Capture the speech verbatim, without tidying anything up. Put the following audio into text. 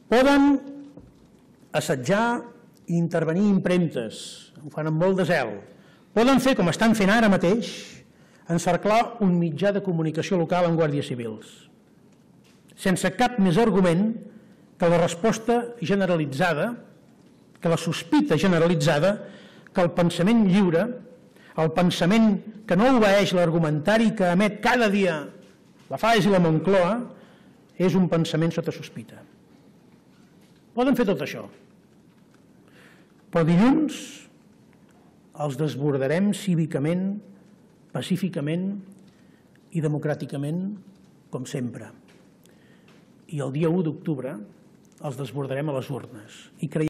Poden assetjar i intervenir impremtes, ho fan amb molt de zel. Poden fer, com estan fent ara mateix, encerclar un mitjà de comunicació local amb guàrdies civils, sense cap més argument que la resposta generalitzada, que la sospita generalitzada, que el pensament lliure, el pensament que no obeeix l'argumentari que emet cada dia la Faes i la Moncloa, és un pensament sota sospita. Poden fer tot això, però dilluns els desbordarem cívicament, pacíficament i democràticament, com sempre. I el dia u d'octubre els desbordarem a les urnes. I creiem